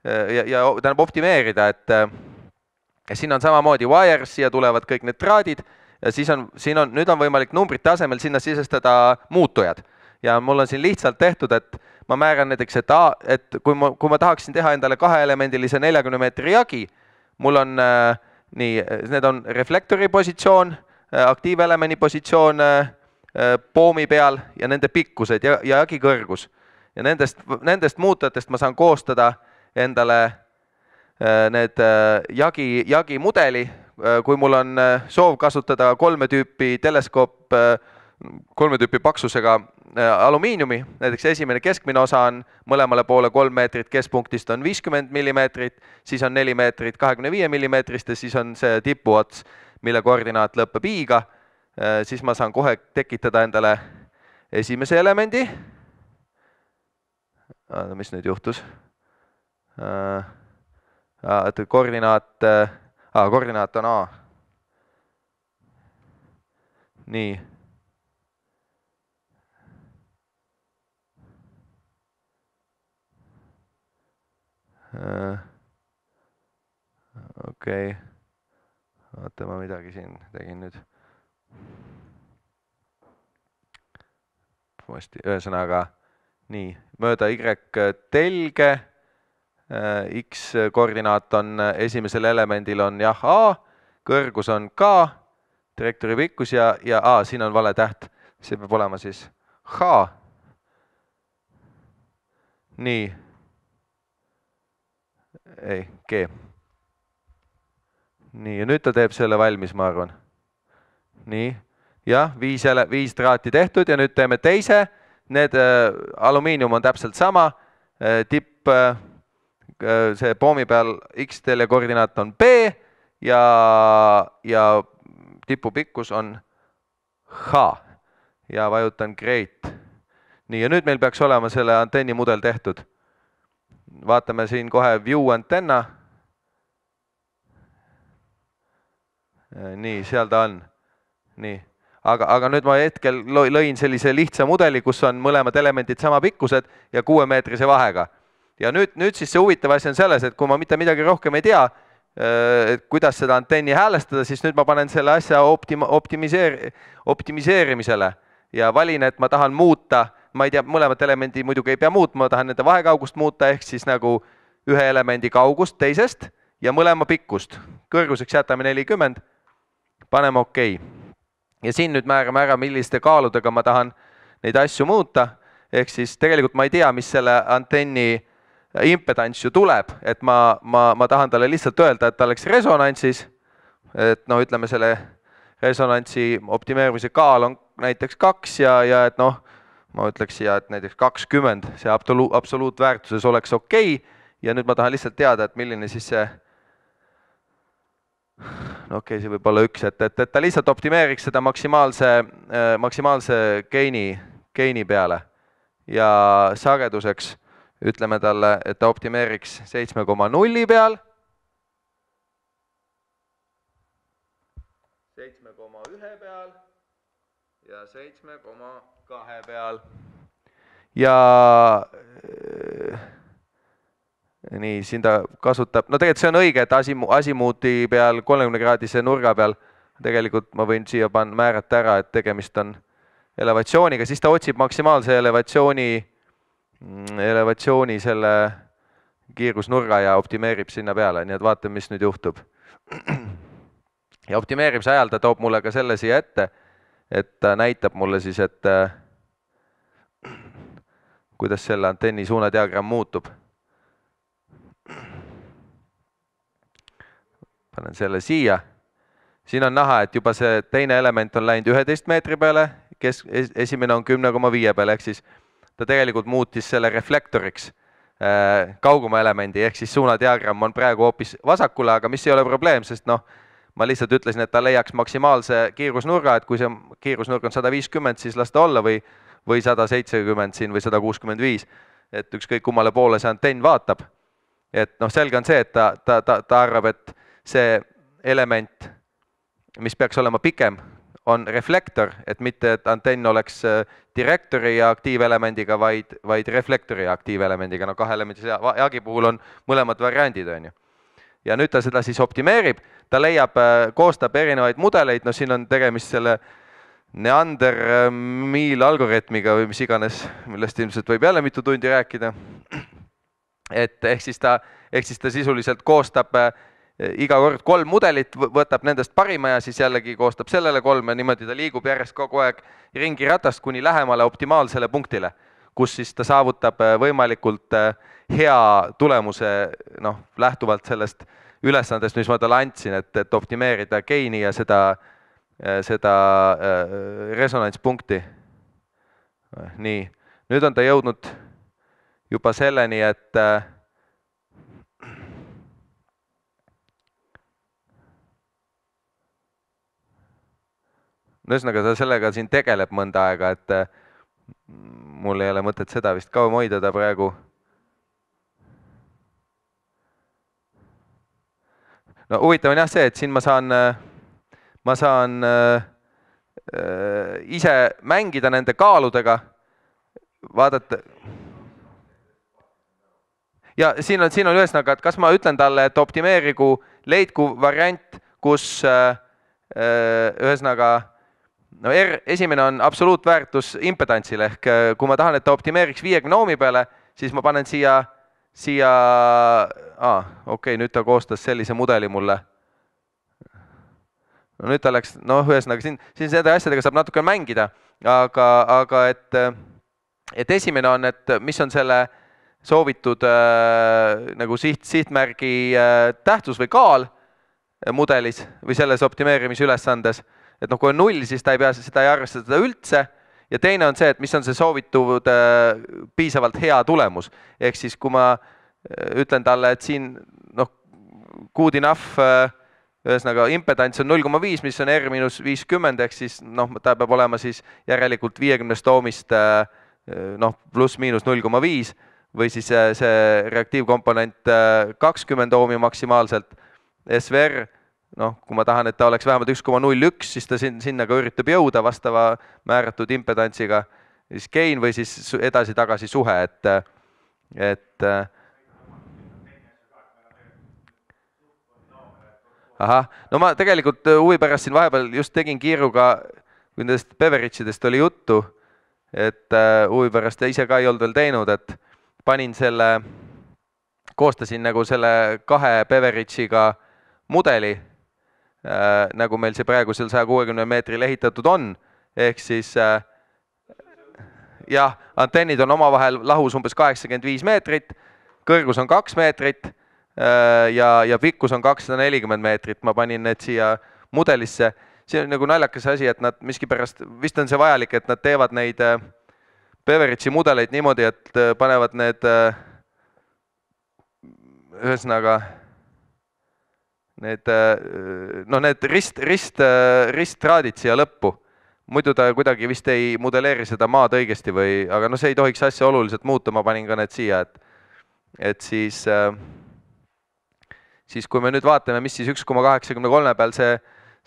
S2: ja, ja tähendab optimeerida, et ja siin on samamoodi wires, siia tulevad kõik need traadid ja siis on, siin on, nüüd on võimalik numbrite asemel sinna sisestada muutujad. Ja mul on siin lihtsalt tehtud, et ma määran näiteks, et, a, et kui, ma, kui ma tahaksin teha endale kaheelemendilise neljakümne meetri jagi, mul on äh, nii, need on reflektori positsioon, äh, aktiivelemendi positsioon äh, poomi peal ja nende pikkused ja, ja jagi kõrgus. Ja nendest, nendest muutujatest ma saan koostada endale äh, need äh, jagi, jagi mudeli, äh, kui mul on äh, soov kasutada kolme tüüpi teleskoop, äh, kolme tüüpi paksusega alumiiniumi, näiteks esimene keskmine osa on mõlemale poole kolm meetrit, keskpunktist on viiskümmend millimeetrit, siis on neli meetrit kahekümne viie millimeetrist ja siis on see tipuots, mille koordinaat lõpeb i-ga, siis ma saan kohe tekitada endale esimese elemendi. Mis nüüd juhtus? Koordinaat, ah, koordinaat on A. Nii. Okei, oota, ma midagi siin tegin nüüd Ühesõnaga, nii, mööda Y telge, X koordinaat on esimesel elemendil on jah A, kõrgus on K, trajektoori pikkus ja, ja A, siin on vale täht, see peab olema siis H. Nii, ei, G. Nii, ja nüüd ta teeb selle valmis, ma arvan. Nii, jah, viis, viis traati tehtud ja nüüd teeme teise. Need äh, alumiinium on täpselt sama. Äh, tipp, äh, see poomi peal X-telje koordinaat on B ja, ja tipu pikkus on H. Ja vajutan Great. Nii, ja nüüd meil peaks olema selle antenni mudel tehtud. Vaatame siin kohe view antenna. Nii, seal ta on. Nii. Aga, aga nüüd ma hetkel lõin sellise lihtsa mudeli, kus on mõlemad elemendid sama pikkused ja kuuemeetrise vahega. Ja nüüd, nüüd siis see huvitav asi on selles, et kui ma mitte midagi rohkem ei tea, et kuidas seda antenni häälestada, siis nüüd ma panen selle asja optima, optimiseer, optimiseerimisele ja valin, et ma tahan muuta, ma ei tea, mõlemat elemendi muidugi ei pea muutma, ma tahan nende vahekaugust muuta, ehk siis nagu ühe elemendi kaugust teisest ja mõlema pikkust. Kõrguseks jätame nelikümmend, paneme OK. Ja siin nüüd määrame ära, milliste kaaludega ma tahan neid asju muuta, ehk siis tegelikult ma ei tea, mis selle antenni impedants ju tuleb, et ma, ma, ma tahan talle lihtsalt öelda, et ta oleks resonantsis, et noh, ütleme selle resonantsi optimeerimise kaal on näiteks kaks ja, ja et noh, ma ütleks siia, et näiteks kakskümmend, see absoluut, absoluutväärtuses oleks OK ja nüüd ma tahan lihtsalt teada, et milline siis see no okei, okay, see võib olla üks, et, et, et ta lihtsalt optimeeriks seda maksimaalse, maksimaalse geini, geini peale ja sageduseks ütleme talle, et ta optimeeriks seitsme koma null peal, seitsme koma üks peal ja seitsme koma kaks peal ja nii, siin ta kasutab, no tegelikult see on õige, et asimuuti peal kolmekümne kraadise nurga peal tegelikult ma võin siia panna, määrata ära, et tegemist on elevatsiooniga, siis ta otsib maksimaalse elevatsiooni, elevatsiooni selle kiirgusnurga ja optimeerib sinna peale, nii et vaatame, mis nüüd juhtub. Ja optimeerimise ajal ta toob mulle ka selle siia ette, et ta näitab mulle siis, et kuidas selle antenni suunadiagramm muutub. Panen selle siia. Siin on näha, et juba see teine element on läinud üheteist meetri peale, kes esimene on kümme koma viis peale, ehk siis ta tegelikult muutis selle reflektoriks äh, kauguma elemendi, ehk siis suunadiagramm on praegu hoopis vasakule, aga mis ei ole probleem, sest noh, ma lihtsalt ütlesin, et ta leiaks maksimaalse kiirusnurga, et kui see kiirusnurg on sada viiskümmend, siis las ta olla või, või sada seitsekümmend siin või sada kuuskümmend viis, et ükskõik kummale poole see antenn vaatab. Et noh, selge on see, et ta, ta, ta, ta arvab, et see element, mis peaks olema pikem, on reflektor, et mitte, et antenn oleks direktori ja aktiivelemendiga, vaid, vaid reflektori ja aktiivelemendiga. No kahe elemendi jaagi puhul on mõlemad variandid, on ju. Ja nüüd ta seda siis optimeerib, ta leiab, koostab erinevaid mudeleid, no siin on tegemist selle Neander Miil algoritmiga või mis iganes, millest ilmselt võib jälle mitu tundi rääkida. Et ehk siis ta, ehk siis ta sisuliselt koostab iga kord kolm mudelit, võtab nendest parima ja siis jällegi koostab sellele kolm ja niimoodi ta liigub järjest kogu aeg ringi ratast kuni lähemale optimaalsele punktile, kus siis ta saavutab võimalikult hea tulemuse, noh, lähtuvalt sellest ülesandest, mis ma talle andsin, et, et optimeerida geini ja seda, seda resonantspunkti. Nii, nüüd on ta jõudnud juba selleni, et ühesõnaga ta sellega siin tegeleb mõnda aega, et mul ei ole mõtet seda vist kauem hoida ta praegu. No huvitav on jah see, et siin ma saan, ma saan äh, ise mängida nende kaaludega, vaadata. Ja siin on, siin on ühesõnaga, et kas ma ütlen talle, et optimeerigu, leidku variant, kus äh, ühesõnaga no R, esimene on absoluutväärtus impedantsil ehk kui ma tahan, et ta optimeeriks viiekümne ohmi peale, siis ma panen siia, siia, ah, okei, nüüd ta koostas sellise mudeli mulle. No nüüd ta läks, noh, ühesõnaga siin, siin seda asjadega saab natuke mängida, aga, aga et, et esimene on, et mis on selle soovitud äh, nagu siht, sihtmärgi äh, tähtsus või kaal mudelis või selles optimeerimise ülesandes. Et noh, kui on null, siis ta ei pea seda ei arvestada üldse. Ja teine on see, et mis on see soovitud äh, piisavalt hea tulemus. Ehk siis, kui ma ütlen talle, et siin noh, good enough äh, ühesõnaga impedants on null koma viis, mis on R miinus viiskümmend, ehk siis noh, ta peab olema siis järelikult viiekümnest ohmist äh, noh, pluss miinus null koma viis või siis see, see reaktiivkomponent äh, kakskümmend ohmi maksimaalselt. S V R, noh, kui ma tahan, et ta oleks vähemalt üks koma null üks, siis ta sinna ka üritab jõuda vastava määratud impedantsiga. Siis gain või siis edasi-tagasi suhe, et, et ahah, no ma tegelikult huvi pärast siin vahepeal just tegin kiiruga, kui nendest Beveridge'idest oli juttu, et huvi pärast ise ka ei olnud veel teinud, et panin selle, koostasin nagu selle kahe Beveridge'iga mudeli, äh, nagu meil see praegu seal saja kuuekümne meetril ehitatud on, ehk siis äh, jah, antennid on omavahel lahus umbes kaheksakümmend viis meetrit, kõrgus on kaks meetrit, Ja, ja pikkus on kakssada nelikümmend meetrit, ma panin need siia mudelisse. See on nagu naljakas asi, et nad miskipärast, vist on see vajalik, et nad teevad neid Beveridge'i mudeleid niimoodi, et panevad need ühesõnaga need, no need rist, rist, ristraadid siia lõppu. Muidu ta kuidagi vist ei modelleeri seda maad õigesti või, aga no see ei tohiks asja oluliselt muuta, ma panin ka need siia, et, et siis siis kui me nüüd vaatame, mis siis üks koma kaheksakümmend kolm peal see,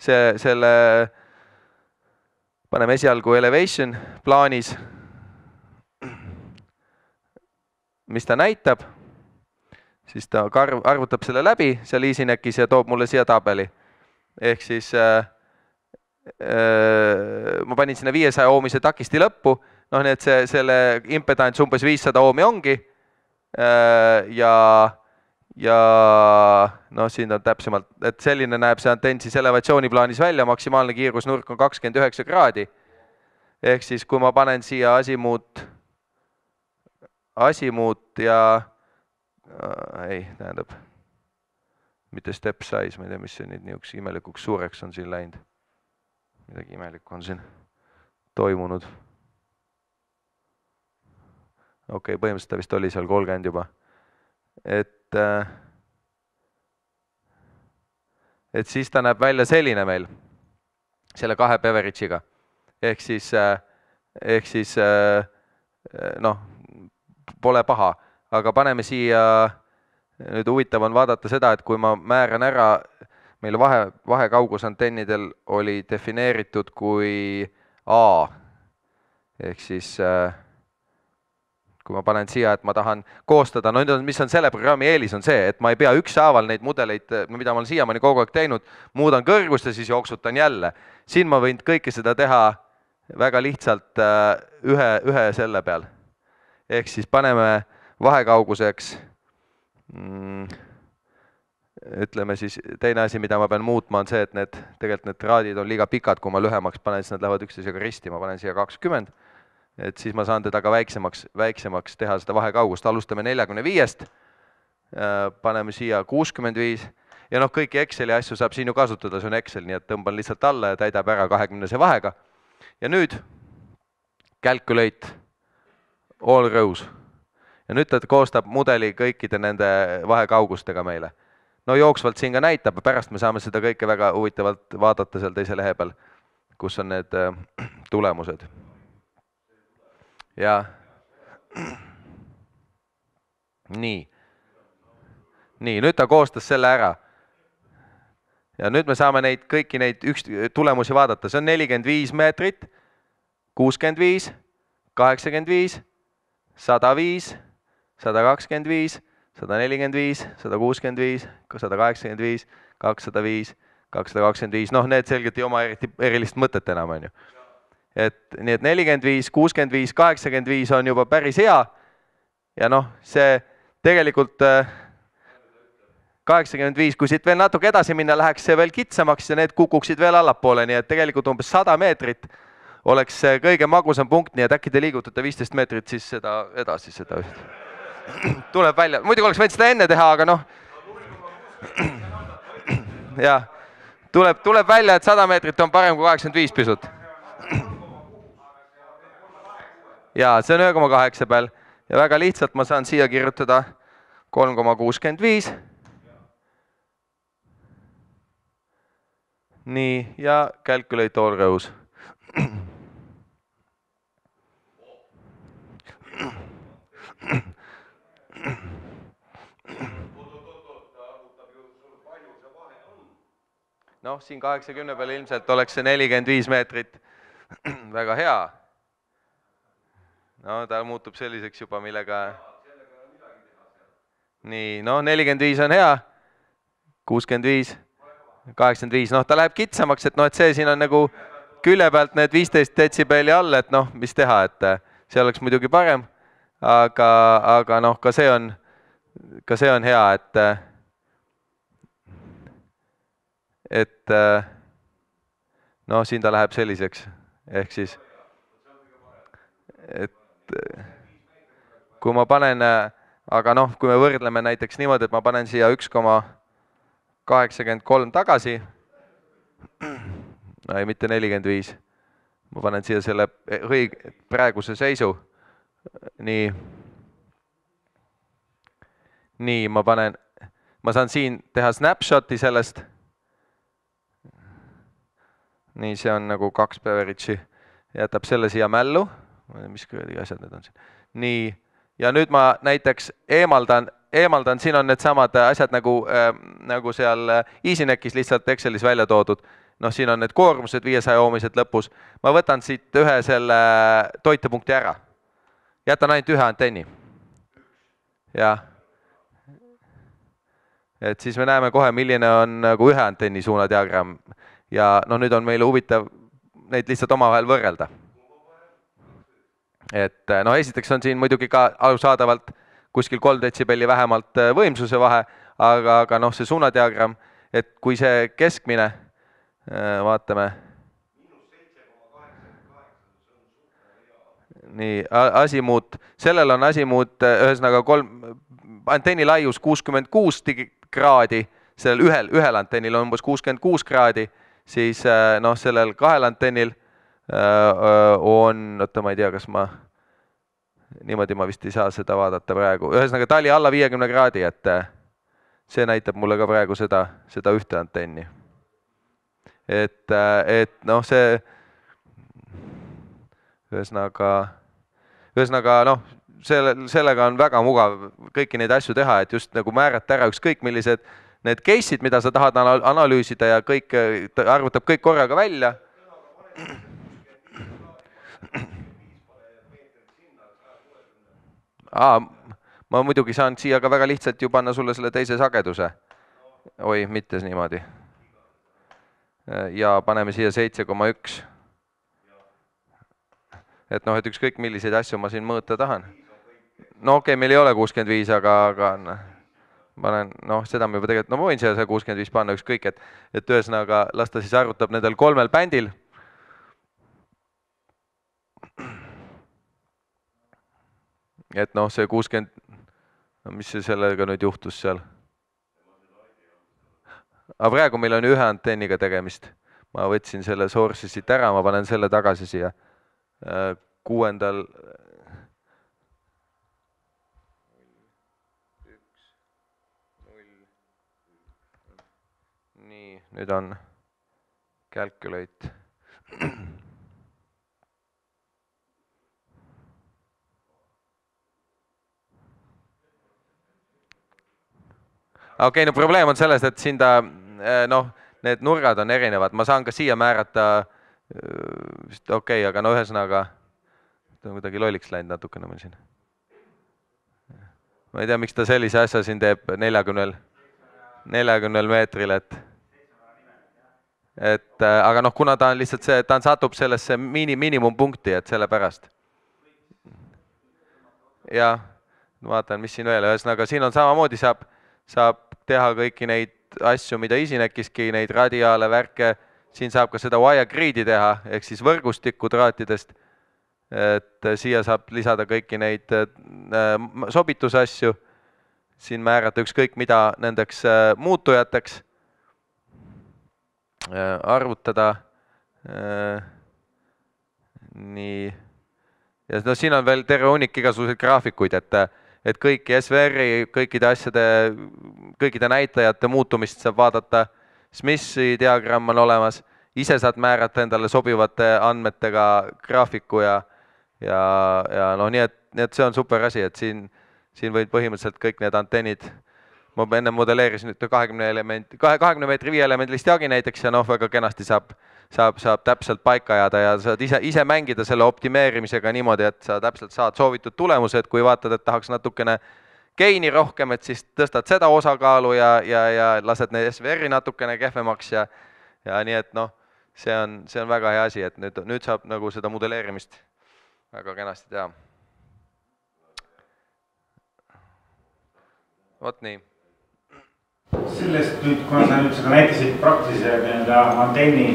S2: see, selle, paneme esialgu elevation plaanis, mis ta näitab, siis ta arvutab selle läbi seal EasyNECis ja toob mulle siia tabeli. Ehk siis äh, äh, ma panin sinna viiesaja ohmise takisti lõppu, noh nii, et see, selle impedants umbes viissada ohmi ongi äh, ja ja noh, siin on täpsemalt, et selline näeb see antenn siis elevatsiooniplaanis välja, maksimaalne kiirusnurk on kakskümmend üheksa kraadi. Ehk siis, kui ma panen siia asimuut, asimuut ja äh, ei, tähendab, mitte step size, ma ei tea, mis see nüüd niisuguse imelikuks suureks on siin läinud. Midagi imelikku on siin toimunud. Okei, põhimõtteliselt ta vist oli seal kolmkümmend juba. Et et siis ta näeb välja selline meil, selle kahe Beveridge'iga. Ehk siis, ehk siis noh, pole paha, aga paneme siia, nüüd huvitav on vaadata seda, et kui ma määran ära, meil vahe, vahekaugusantennidel oli defineeritud kui A, ehk siis kui ma panen siia, et ma tahan koostada, no mis on selle programmi eelis, on see, et ma ei pea ükshaaval neid mudeleid, mida ma olen siiamaani kogu aeg teinud, muudan kõrgust ja siis jooksutan jälle. Siin ma võin kõike seda teha väga lihtsalt ühe, ühe selle peal. Ehk siis paneme vahekauguseks, ütleme siis, teine asi, mida ma pean muutma, on see, et need, tegelikult need traadid on liiga pikad, kui ma lühemaks panen, siis nad lähevad üksteisega risti, ma panen siia kakskümmend. Et siis ma saan teda ka väiksemaks, väiksemaks teha seda vahekaugust. Alustame neljakümne viiest, paneme siia kuuskümmend viis ja noh, kõiki Exceli asju saab siin ju kasutada, see on Excel, nii et tõmban lihtsalt alla ja täidab ära kahekümnese vahega. Ja nüüd calculate all rows. Ja nüüd ta koostab mudeli kõikide nende vahekaugustega meile. No jooksvalt siin ka näitab, pärast me saame seda kõike väga huvitavalt vaadata seal teise lehe peal, kus on need tulemused. Ja nii. Nii, nüüd ta koostas selle ära. Ja nüüd me saame neid, kõiki neid üks tulemusi vaadata. See on nelikümmend viis meetrit, kuuskümmend viis, kaheksakümmend viis, sada viis, sada kakskümmend viis, sada nelikümmend viis, sada kuuskümmend viis, sada kaheksakümmend viis, kakssada viis, kakssada kakskümmend viis, noh, need selgelt ei oma eriti erilist mõtet enam, on ju. Et nii et nelikümmend viis, kuuskümmend viis, kaheksakümmend viis on juba päris hea ja noh, see tegelikult kaheksakümmend viis, kui siit veel natuke edasi minna, läheks see veel kitsamaks ja need kukuksid veel allapoole, nii et tegelikult umbes sada meetrit oleks see kõige magusam punkt, nii et äkki te liigutate viisteist meetrit siis seda edasi, seda üht. Tuleb välja, muidugi oleks võinud seda enne teha, aga noh. Jah, tuleb, tuleb välja, et sada meetrit on parem kui kaheksakümmend viis pisut. Jaa, see on ühe koma kaheksa peal ja väga lihtsalt ma saan siia kirjutada kolm koma kuuskümmend viis. Nii, ja calculate all rows. Noh, siin kaheksakümne peal ilmselt oleks see nelikümmend viis meetrit väga hea. No ta muutub selliseks juba, millega... Nii, noh, nelikümmend viis on hea, kuuskümmend viis, kaheksakümmend viis, noh, ta läheb kitsamaks, et noh, et see siin on nagu külje pealt need viisteist detsibelli all, et noh, mis teha, et see oleks muidugi parem, aga, aga noh, ka see on, ka see on hea, et et noh, siin ta läheb selliseks, ehk siis, et kui ma panen, aga noh, kui me võrdleme näiteks niimoodi, et ma panen siia üks koma kaheksakümmend kolm tagasi, no ei, mitte nelikümmend viis, ma panen siia selle õige praeguse seisu, nii, nii, ma panen, ma saan siin teha snapshoti sellest, nii, see on nagu kaks beveridži, jätab selle siia mällu, mis kõige asjad need on siin, nii, ja nüüd ma näiteks eemaldan, eemaldan, siin on need samad asjad nagu, äh, nagu seal EasyNeckis lihtsalt Excelis välja toodud, noh, siin on need koormused viiesaja oomised lõpus, ma võtan siit ühe selle toitepunkti ära, jätan ainult ühe antenni, jah, et siis me näeme kohe, milline on nagu ühe antenni suunadiagramm ja noh, nüüd on meile huvitav neid lihtsalt omavahel võrrelda. Et noh, esiteks on siin muidugi ka arusaadavalt kuskil kolm detsibelli vähemalt võimsuse vahe, aga, aga noh, see suunadiagramm, et kui see keskmine, vaatame, nii, asimuut, sellel on asimuut, ühesõnaga kolm, antenni laius kuuskümmend kuus kraadi, sellel ühel, ühel antennil on umbes kuuskümmend kuus kraadi, siis noh, sellel kahel antennil on, oota, ma ei tea, kas ma, niimoodi ma vist ei saa seda vaadata praegu, ühesõnaga ta oli alla viiekümne kraadi, et see näitab mulle ka praegu seda, seda ühte antenni. Et, et noh, see, ühesõnaga, ühesõnaga noh, selle, sellega on väga mugav kõiki neid asju teha, et just nagu määrata ära ükskõik millised need case'id, mida sa tahad analüüsida ja kõik, arvutab kõik korraga välja. Aa, ma muidugi saan siia ka väga lihtsalt ju panna sulle selle teise sageduse. Oi, mitte niimoodi. Ja paneme siia seitse koma üks. Et noh, et ükskõik milliseid asju ma siin mõõta tahan. No okei, okay, meil ei ole kuuskümmend viis, aga, aga panen, noh, seda me juba tegelikult, no ma võin siia kuuskümmend viis panna ükskõik, et, et ühesõnaga las ta siis arvutab nendel kolmel bändil. Et noh, see kuuskümmend, no mis see sellega nüüd juhtus seal? Aga praegu meil on ühe antenniga tegemist. Ma võtsin selle source'i siit ära, ma panen selle tagasi siia kuuendal. Nii, nüüd on calculate. Okei, no probleem on selles, et siin ta, noh, need nurgad on erinevad. Ma saan ka siia määrata, okei, okay, aga no ühesõnaga, ta on kuidagi lolliks läinud natukene meil siin. Ma ei tea, miks ta sellise asja siin teeb neljakümnel, neljakümnel meetril, et et aga noh, kuna ta on lihtsalt see, ta on satub sellesse miini, miinimumpunkti, et selle pärast. Ja vaatan, mis siin veel, ühesõnaga siin on samamoodi, saab, saab teha kõiki neid asju, mida Esinekiski, neid radiaale, värke, siin saab ka seda wire grid'i teha, ehk siis võrgustikku traatidest, et siia saab lisada kõiki neid sobitusasju, siin määrata ükskõik mida nendeks muutujateks, arvutada, nii, ja no siin on veel terve hunnik igasuguseid graafikuid, et, et kõiki S V R-i, kõikide asjade, kõikide näitajate muutumist saab vaadata, Smithi diagramm on olemas, ise saad määrata endale sobivate andmetega graafiku ja, ja, ja no nii, et, nii et see on super asi, et siin, siin võid põhimõtteliselt kõik need antennid, ma enne modelleerisin nüüd kahekümne element, kahekümne meetri viie elemendilist jagi näiteks ja noh, väga kenasti saab, saab, saab täpselt paika jääda ja saad ise, ise mängida selle optimeerimisega niimoodi, et sa täpselt saad soovitud tulemused, kui vaatad, et tahaks natukene geini rohkem, et siis tõstad seda osakaalu ja, ja, ja lased need S V R-i natukene kehvemaks ja, ja nii, et noh, see on, see on väga hea asi, et nüüd, nüüd saab nagu seda modelleerimist väga kenasti teha. Vot nii.
S1: Sellest nüüd, kuna sa nüüd seda näitasid praktilise antenni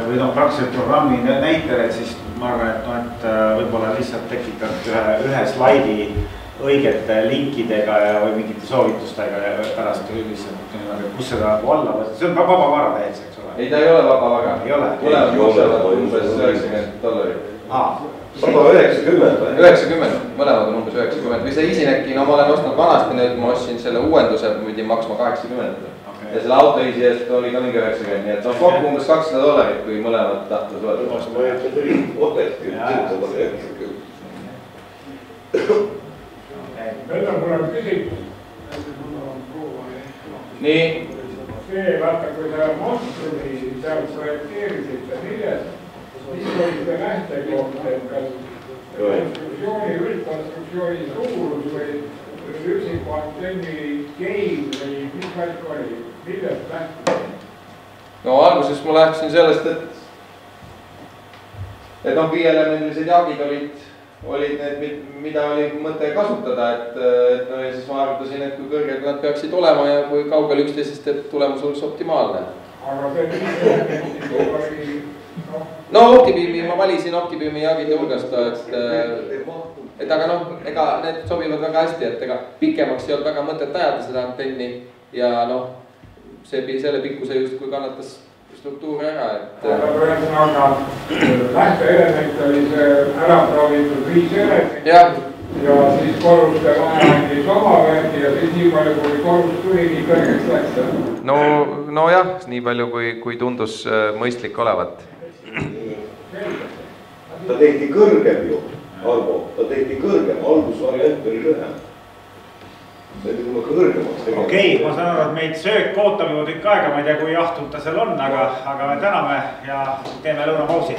S1: või noh, praktiliselt programmi näitel, et siis ma arvan, et, no, et võib-olla lihtsalt tekitad ühe, ühe slaidi õigete linkidega ja või mingite soovitustega ja pärast lihtsalt niimoodi, kus seda alla võtta. See on vaba vara täies, eks ole?
S2: Ei, ta ei ole vaba vara.
S1: Ei ole?
S2: Tulevad maksavad umbes üheksakümmend dollarit.
S3: sada üheksakümmend või?
S2: üheksakümmend, mõlemad on umbes üheksakümmend. Või see Esineki, no ma olen ostnud vanasti, nüüd ma ostsin selle uuenduse, pidin maksma kaheksakümmend. Okay. Ja selle auto isi eest oli ka mingi üheksakümmend, nii et on kokku umbes kakssada dollarit, kui mõlemad tahtud võtta.
S3: Ma ei ütle tuli otekski, sada üheksakümmend.
S4: Nüüd on mul on küsimus.
S2: Nii.
S4: See, vaata, kui ta monstrumi seal projekteerisite, milles, mis oli see lähtekoht, et kas konstruktsiooni, üldkonstruktsiooni suurus või üksiku antenni gein või mis valik oli, millest lähtuda?
S2: No alguses ma lähtusin sellest, et, et noh, viieelemendilised jagid olid olid need, mida oli mõte kasutada, et, et no ja siis ma arvutasin, et kui kõrged nad peaksid olema ja kui kaugel üksteisest, et tulemus oleks optimaalne.
S4: Aga see oli,
S2: no OptiBeami, ma valisin OptiBeami jagide hulgast, et, et aga noh, ega need sobivad väga hästi, et ega pikemaks ei olnud väga mõtet ajada seda antenni ja noh, see, selle pikkuse just kui kannatas struktuur ära, et...
S4: Aga lähteelement oli see ära proovitud viis element ja, ja siis korruste vahe andis oma värgi ja siis nii palju, kui korrus tuli, nii kõrgeks läks.
S2: No, no jah, nii palju, kui, kui tundus mõistlik olevat.
S3: Ta tehti kõrgem ju, Arvo, ta tehti kõrgem, algusvariant oli lühem.
S1: Okei, okay, ma saan aru, et meid söök ootab juba tükk aega, ma ei tea, kui jahtud ta seal on, aga, aga me täname ja teeme lõunapausi.